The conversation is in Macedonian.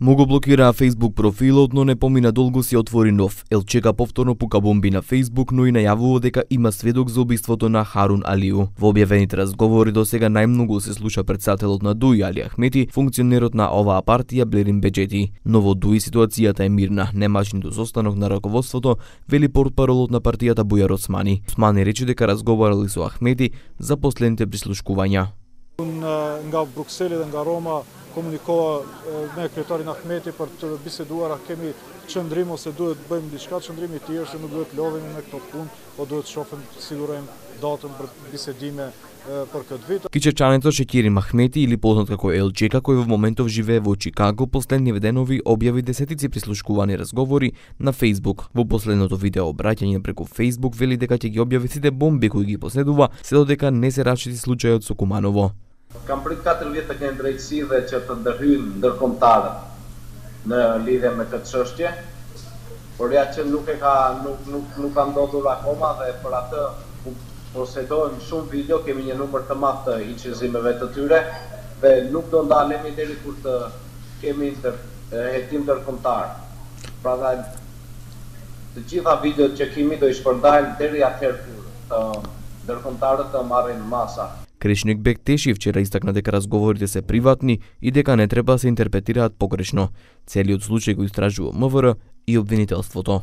Му го блокираа Facebook профилот, но не помина долго си отвори нов. ЛЧК повторно пука бомби на Facebook, но и најавува дека има сведок за убиството на Харун Алиу. Во објавените разговори до сега најмногу се слуша претседателот на ДУИ Али Ахмети, функционерот на оваа партија Блерин Беџети. Но во ДУИ ситуацијата е мирна, немаш ниту состанок на раководството, вели портпаролот на партијата Бујар Османи. Османи рече дека разговарали со Ахмети за последните прислушкувања. Nga Brukseli dhe nga Roma komunikova me kryetarin Ahmeti për të biseduar, kemi qëndrim ose duhet bëjmë diçka, qëndrimi i tij është nuk duhet lodhemi me këto punë, po duhet shohim të sigurojmë datën për bisedime për këtë vit. Кичевчанецот Шекирим Ахмети, или познат како ЛЧК, кој во моментов живее во Чикаго, последниве денови објави десетици прислушкувани разговори на Facebook. Во последното видео обраќање преку Facebook вели дека ќе ги објави сите бомби кои ги поседува, се додека не се расчисти случајот со Куманово. Kam prit 4 vjet të kenë drejtësi dhe që të ndërhyjnë ndërkombëtarët në lidhje me këtë çështje, por ja që nuk ka ndodhur akoma dhe për atë posedojmë shumë video, kemi një numër të madh të incizimeve të tyre dhe nuk do ndalemi deri kur të kemi hetim ndërkombëtar. Prandaj të gjitha videot që kemi do i shpërndajmë deri atëherë kur ndërkombëtarët të marrin masa. Кришник Бектеши вчера истакна дека разговорите се приватни и дека не треба се интерпретираат погрешно. Целиот случај го истражува МВР и обвинителството.